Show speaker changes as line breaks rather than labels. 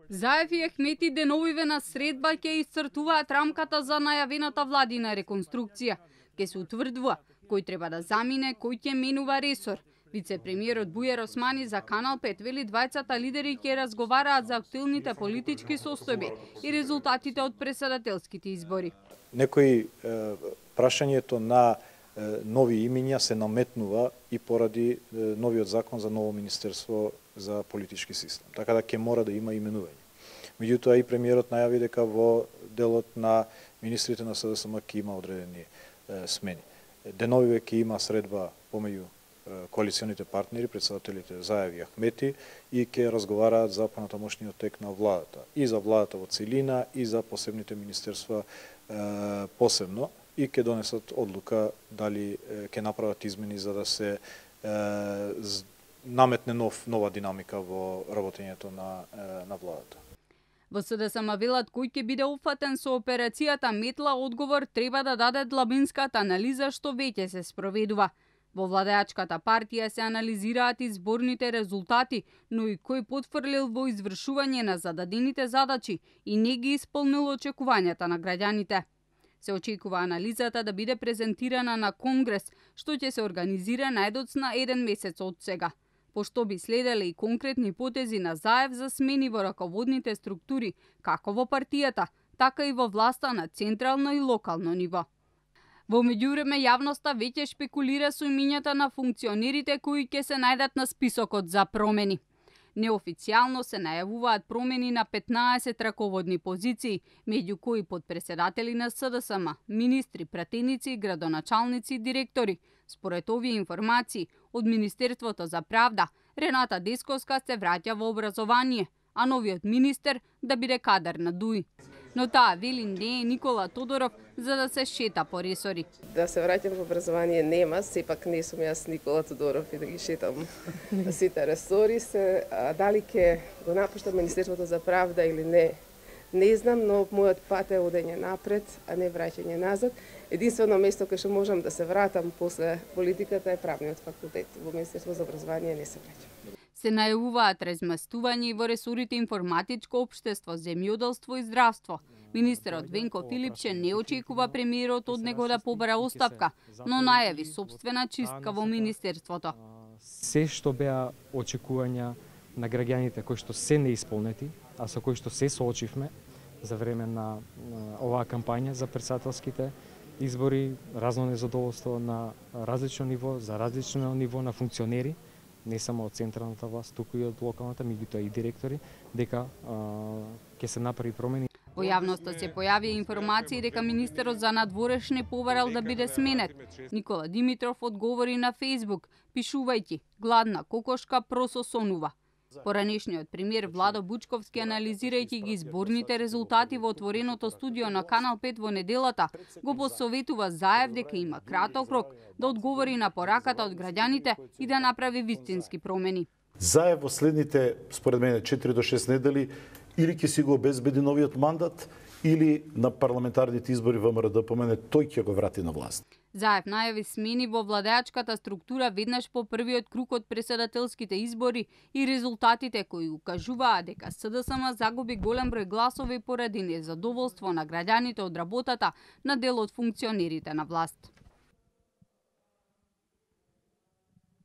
Заев и Ахмети деновиве на средба ќе исцртуваат рамката за најавената владина реконструкција. Ке се утврдува кој треба да замине, кој ќе менува ресор. Вице-премиерот Бујар Османи за Канал 5 вели двајцата лидери ќе разговараат за актуелните политички состојби и резултатите од претседателските избори.
Некои прашањето на нови имиња се наметнува и поради новиот закон за ново министерство за политички систем. Така да ќе мора да има именување. Меѓутоа и премиерот најави дека во делот на министрите на СДСМ ќе има одредени смени. Деновиве ќе има средба помеѓу коалиционите партнери, претседателите Заев и Ахмети и ќе разговараат за понатамошниот тек на владата. И за владата во целина, и за посебните министерства посебно. И ќе донесат одлука дали ќе направат измени за да се наметне нова динамика во работењето на владата.
Во СДСМ велат кој ќе биде опфатен со операцијата Метла, одговор треба да даде длабинската анализа што веќе се спроведува. Во владеачката партија се анализираат изборните резултати, но и кој потфрлил во извршување на зададените задачи и не ги исполнил очекувањата на граѓаните. Се очекува анализата да биде презентирана на Конгрес, што ќе се организира најдоцна 1 месец од сега. Пошто би следеле и конкретни потези на Заев за смени во раководните структури, како во партијата, така и во власта на централно и локално ниво. Во меѓувреме јавноста веќе шпекулира со имињата на функционерите кои ќе се најдат на списокот за промени. Неофицијално се најавуваат промени на 15 раководни позиции, меѓу кои подпредседатели на СДСМ, министри, пратеници, градоначалници, директори. Според овие информации, од Министерството за правда, Рената Десковска се враќа во образование, а новиот министер да биде кадар на ДУИ. Но таа вели не е Никола Тодоров за да се шета по ресори.
Да се враќам во образование нема, сепак не сум јас Никола Тодоров и да ги шетам сите ресори. Дали ќе го напуштам Министерството за правда или не знам, но мојот пат е одење напред, а не враќање назад. Единствено место кај што можам да се вратам после политиката е правниот факултет. Во Министерство за образование не се враќам.
Се најавуваат разместување во ресорите информатичко општество, земјоделство и здравство. Министерот Венко Филипче не очекува премиерот од него да побара оставка, но најави сопствена чистка во министерството.
Се што беа очекувања на граѓаните кои што се неисполнети, а со кои што се соочивме за време на оваа кампања за претседателските избори, разно незадоволство на различно ниво, за различно ниво на функционери, не само од централната власт, туку и од локалната, меѓутоа и директори, дека ќе се направи промени.
Во јавноста се појавија информации дека министерот за надворешни побарал да биде сменет. Никола Димитров одговори на Фејсбук, пишувајќи: "Гладна кокошка прососонува". Поранешниот премиер Владо Бучковски, анализирајќи ги изборните резултати во отвореното студио на Канал 5 во неделата, го посоветува Заев дека има краток рок да одговори на пораката од граѓаните и да направи вистински промени.
Заев во следните, според мене, 4 до 6 недели или ќе си го обезбеди новиот мандат, или на парламентарните избори ВМРО ДПМН тој ќе го врати на власт.
Заев најави смени во владеачката структура веднаш по првиот круг од претседателските избори и резултатите кои укажуваа дека СДСМ загуби голем број гласови поради незадоволство на граѓаните од работата на дел од функционерите на власт.